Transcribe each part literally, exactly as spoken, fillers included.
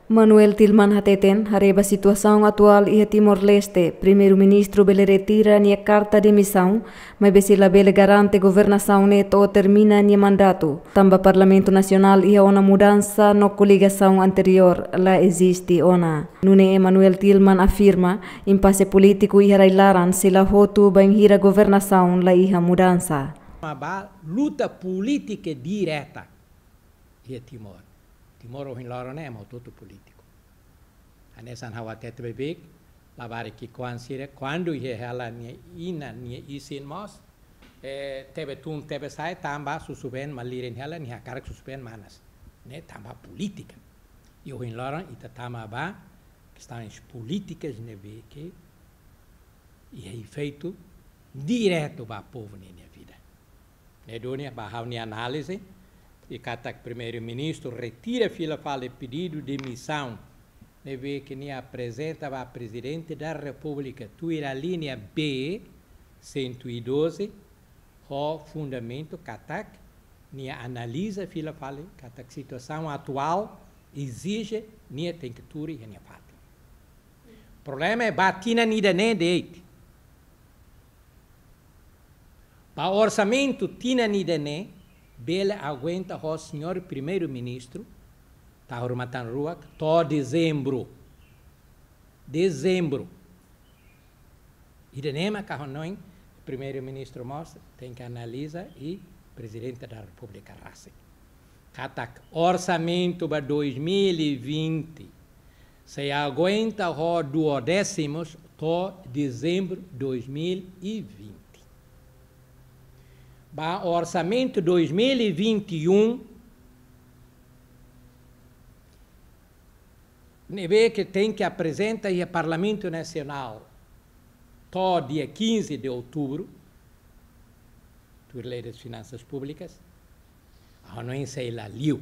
Manuel Tilman hateten, haree ba situasaun atuál iha Timor-Leste, Primeiru-Ministru bele retira nia karta demisaun, maibé sei labele garante governasaun ne'e to'o termina nia mandatu, tanba Parlamentu Nasionál iha ona mudansa no koligasaun anteriór la eziste ona. Nune'e Manuel Tilman afirma, impase polítiku iha rai-laran sei la hotu bainhira governasaun la iha mudansa. Ba luta polítika direta iha Timor. Timor ohin loron ne'e ema hotu-hotu polítiku. Hanesan ha'u hatete beibeik, labarik ki'ikoan sira, kuandu iha hela nia inan nia isin mós, eh, tebe tun tebe sa'e, tanba susubeen malirin hela, nia hakarak susubeen manas. Ne'e tanba polítika. I ohin loron ita tama ba kestaun polítikas ne'ebé ke iha efeitu diretu ba povu ninia vida. Ne'e duni ba ha'u-nia análize, i katak Primeiru-Ministru retira fila fali pedidu demisaun ne'ebé ke nia aprezenta ba Prezidente da Repúblika tuir alínea B cento e doze, ho fundamentu katak nia analiza fila fali katak situasaun atuál ezije nia tenke tuur iha nia fatin. Problema é ba tinan ida-ne'e de'it. Ba orsamentu tinan ida-ne'e bele aguenta ho señór Primeiru-Ministru, tahun rumah tang ruak, to'o dezembru. Dezembru. Ida-ne'e mak ha'u hanoin Primeiru-Ministru mós tenke analiza i Prezidente da Repúblika rasik. Katak orsamentu ba dois mil e vinte sei aguenta ho duodécimos to'o dezembru dois mil e vinte. Ba orsamentu dois mil e vinte e um, ne'ebé ke tenke aprezenta iha Parlamentu Nasionál to'o dia quinze de outubro, tuir Lei das Finanças Públicas, ha'u hanoin sei la liu.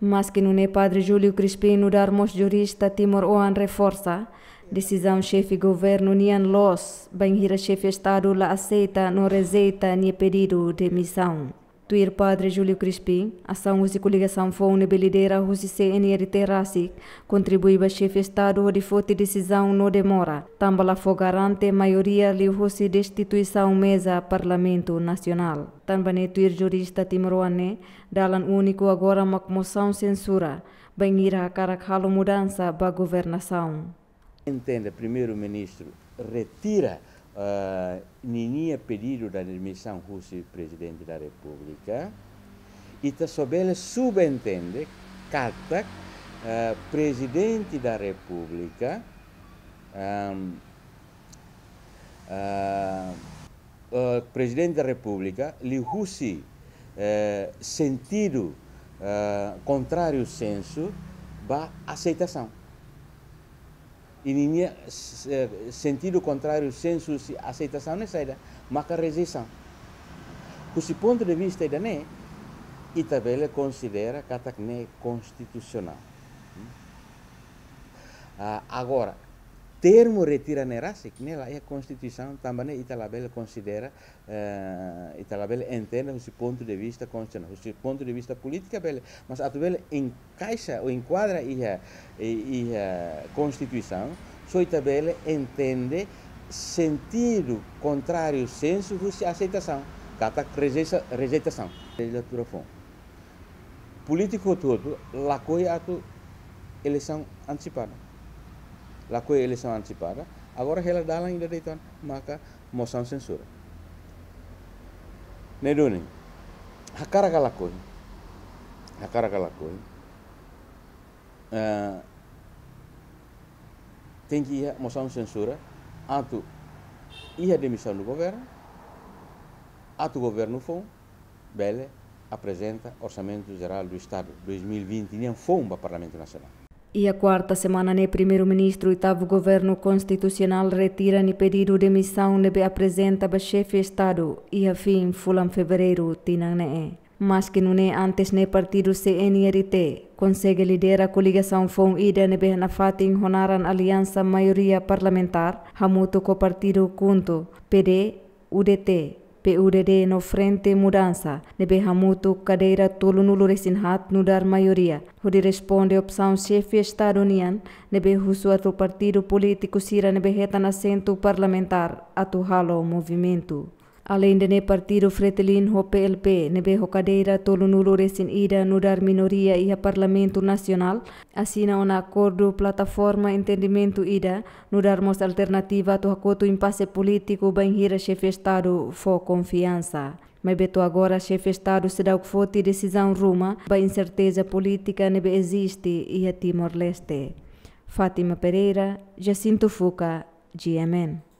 Maske nune'e Padre Júlio Crispim nu'udar mós jurista timoroan reforsa, desizaun xefe governu nian loos, bainhira xefe Estadu la aseita no rejeita nia pedidu demisaun. Tuir Padre Júlio Crispim, asaun husi koligasaun foun ne'ebé lidera husi C N R T rasik kontribui ba xefe Estadu hodi foti desizaun no demora, tanba la fó garante maioria liuhusi destituisaun meza Parlamentu Nasionál. Tanba ne'e tuir jurista timoroan ne'e, dalan úniku agora mak mosaun sensura, bainhira hakarak halo mudansa ba governasaun. Entende, Primeiru-Ministru retira, eh, ninia pedidu da demisaun husi Prezidente da Repúblika, ita só bele subentende katak, eh, Prezidente da Repúblika, ehm, eh, eh, Prezidente da Repúblika liuhusi, eh, sentidu, eh, kontráriu sensu ba aseitasaun. I ninia, s-, eh, sentidu kontráriu sensu husi aseitasaun ne'e saida? Maka rejeisaun. Husi pontu de vista ida-ne'e, ita bele konsidera katak ne'e konstitusionál. Hmm? Ah, agora, termu retira ne'e rasik, ne'e la iha Konstituisaun, tanba ne'e ita labele konsidera, eh, ita labele entende husi pontu de vista konstitusionál. Husi pontu de vista polítika bele, mas atu bele enkaixa ou enkuadra iha, i-, iha Konstituisaun, só ita bele entende sentidu kontráriu sensu husi aseitasaun, katak rejeisa-, rejeitasaun. Lejizlatura foun. Polítiku hotu-hotu lakohi atu eleisaun antesipada. Lakohi eleisaun antesipada. Agora hela dalan ida de'it ona, maka mosaun sensura. Ne'e duni, hakarak ka lakohi. Hakarak ka lakohi. Eh, tenke iha mosaun sensura, atu iha demisaun do governu, atu governu foun bele aprezenta Orsamentu Jerál do Estadu dois mil e vinte nian foun ba Parlamentu Nasionál. Iha kuarta semana ne'e Primeiru-Ministru oitavu Governu Konstitusionál retira nia pedidu demisaun ne'ebé aprezenta ba xefe Estadu iha fin fulan Fevereiru tinan ne'e. Maske nune'e antes ne'e partidu C N R T konsege lidera koligasaun foun ida ne'ebé nafatin ho naran Aliansa Maioria Parlamentár, hamutuk ho partidu KHUNTO, P D, U D T, P U D D no Frente Mudansa, ne'ebé hamutuk kadeira tolunulu-resin-haat nu'udar maioria, hodi responde opsaun xefe Estadu nian, ne'ebé husu atu partidu polítiku sira ne'ebé hetan asentu parlamentár atu halo movimentu. Aleinde ne'e, partidu Fretilin ho P L P, ne'ebé ho kadeira tolunulu-resin-ida nu'udar minoria iha Parlamentu Nasionál, asina ona akordu plataforma entendimentu ida, nu'udar mós alternativa atu hakotu impase polítiku bainhira xefe Estadu fó konfiansa. Maibé to'o agora xefe Estadu seidauk foti desizaun ruma ba inserteza polítika ne'ebé eziste iha Timor-Leste. Fátima Pereira, Jacinto Fuca, G M N.